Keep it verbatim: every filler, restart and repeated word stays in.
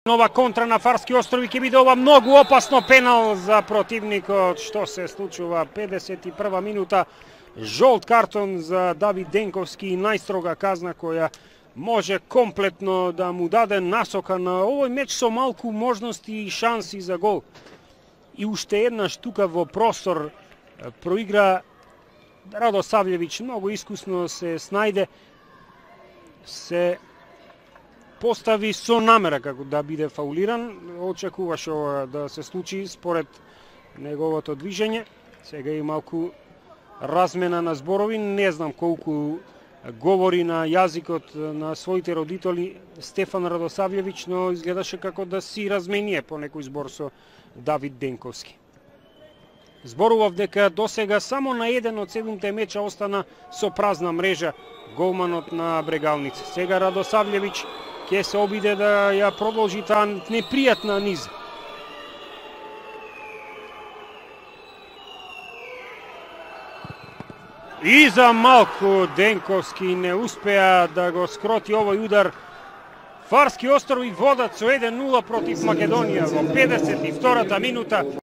Нова контра на Фарски острови ќе биде ова многу опасно, пенал за противникот. Што се случува? педесет и прва минута. Жолт картон за Давид Денковски и најстрога казна која може комплетно да му даде насока на овој меч со малку можности и шанси за гол. И уште една штука во простор проигра Радосављевиќ, многу искусно се снајде, се постави со намера како да биде фаулиран, очекуваше ова да се случи според неговото движење. Сега и малку размена на зборови, не знам колку говори на јазикот на своите родители Стефан Радосављевиќ, но изгледаше како да си размение по некој збор со Давид Денковски. Зборував дека досега само на еден од седумте меча остана со празна мрежа голманот на Брегалница. Сега Радосављевиќ ќе се обиде да ја продолжи таа непријатна низа. И за малку Денковски не успеа да го скроти овој удар. Фарски острови водат со еден нула против Македонија во педесет и втората минута.